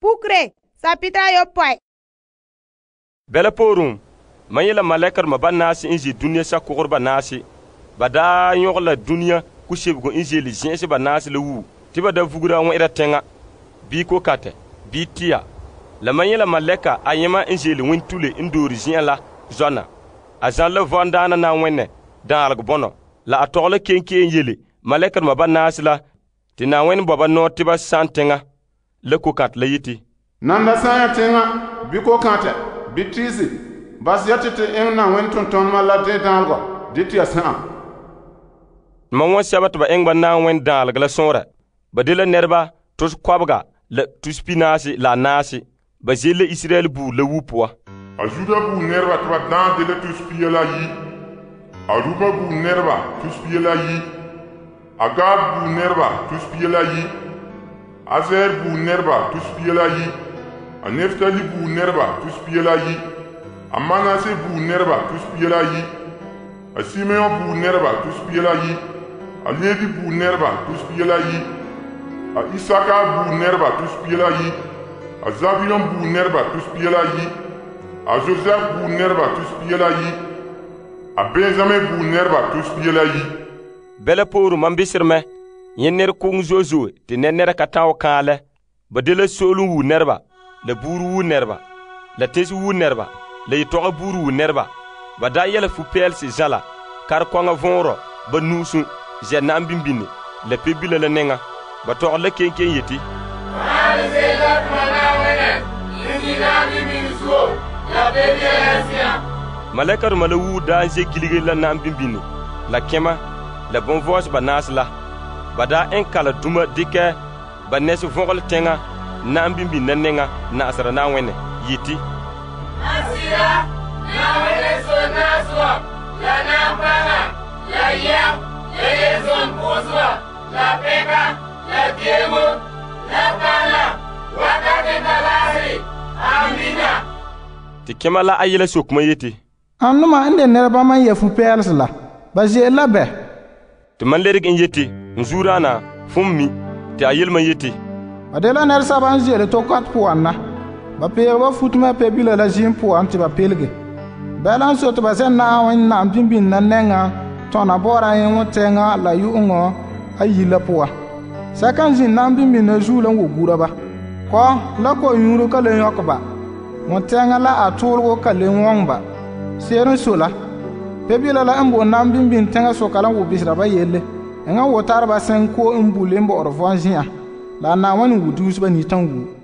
Pukre, sapita ayopɔe. Bɛla poorum, man yela malɛkar ma ba naase n ze dunia sakogre ba naase. Ba daa yɔgɛ la dunia kusebego n zeele zɛn'ɛse ba naase la wuo, te ba da vugura wɛ'ɛra teŋa, bii kokatɛ, bii tia. La man yela malɛka ayema n zeele wentule n doore zen'an la zɔna. A zan la vɔndaana Na'ayenɛ daaregɔ bɔnɔ. La a tɔgɛ la kenkeen yele malɛkar ma ba naase la te Na'ayenɛ bɔ ba nɔɔ te ba san teŋa la kokantɛ la yeti, Nanda sanya teŋa, bii kokantɛ, bii tiisi, bas ya te eŋɛ Na'ayenɛ tontonema la de daalgɔ, de tia sa'am. Ma wɔn sɛba te ba eŋɛ ba Na'ayenɛ daalegɔ la sɔnrɛ. Ba de la nɛreba tos kɔbega la tus pinaase la anaase. Ba ze'ele la Israel buuri la wuo poan. A Juda buuri nɛreba te ba daan de la tus pia la yi. A Ruba buuri nɛreba tus pia la yi. A Gad buuri nɛreba tus pia la yi. A Aser buuri nɛreba tus pia la yi. A Neftali buuri nɛreba tus pia la yi. A Manase buuri nɛreba tus pia la yi. A Simeon buuri nɛreba tus pia la yi. A Levi buuri nɛreba tus pia la yi. A Isaka buuri nɛreba tus pia la yi. A Zabiyon buuri nɛreba tus pia la yi. A Joseph buuri nɛreba tus pia la yi. A Benjamin buuri nɛreba tus pia la yi. Bɛla poorum man bisere mɛ, yẽ nɛra koŋ zo'e zo'e te nɛra ka ta'an kaalɛ. Ba de la so'olem wuo nɛreba, la buuri wuo nɛreba, la tesi wuo nɛreba, la yetɔgɛ buuri wuo nɛreba. Ba daa yɛla fu-pɛɛlesi zãla, kare-kɔŋa vɔnrɔ, ba nu'usum, zɛ' na'am bimbini, la pebila la nɛŋa. Ba tɔgɛ la kenkeen yeti, malɛkarema la wuo daa n ze gilige la na'am bimbini, la kẽma, la bonvɔɔse ba naase la. Ba daa eŋ kala duma dikɛ ba nɛse vɔgɔle teŋa na'am bimbini na nɛŋa na'asera Na'ayenɛ yeti, Asira, Na'ayenɛ so naasɔ, la na'apaŋa, la yɛm, la yelzon pʋʋseba, la pɛka, la deemo, la paana, wakate talaasi. Amina. Te kẽma la a yɛla sokuma yeti, Annuma n de nɛreba man yɛ fu-pɛɛlesi la, ba ze'ele la bɛ? Te man lerege n yeti, n zuuraana, fum mi, te a yele man yeti, Ba de la nɛresɛba n ze'ele tokɔt puan na. Ba peege ba futuma pebila la zĩim puan te ba pelege. Bɛla n so te ba zɛ Na'ayenɛ na'am bimbini na nɛŋa tɔna bɔɔra yẽŋɔ tɛŋa la yu'uŋɔ ayi la puan. Sɛka n zĩnd na'am bimbini na zuo la n wo gura ba. Kɔ la ko-yũuro ka le yõk ba. Ŋɔ tɛŋa la a toolego ka le wɔŋ ba. Seer n so la, pebila la n bo na'am bimbini tɛŋa soka la n wo bisera ba yelle. Eŋa wo tare ba sẽn ko n bule n bɔ'ɔre vɔn zin'an. La a Na'ayenɛ wo duuse ba ni tãn wuo.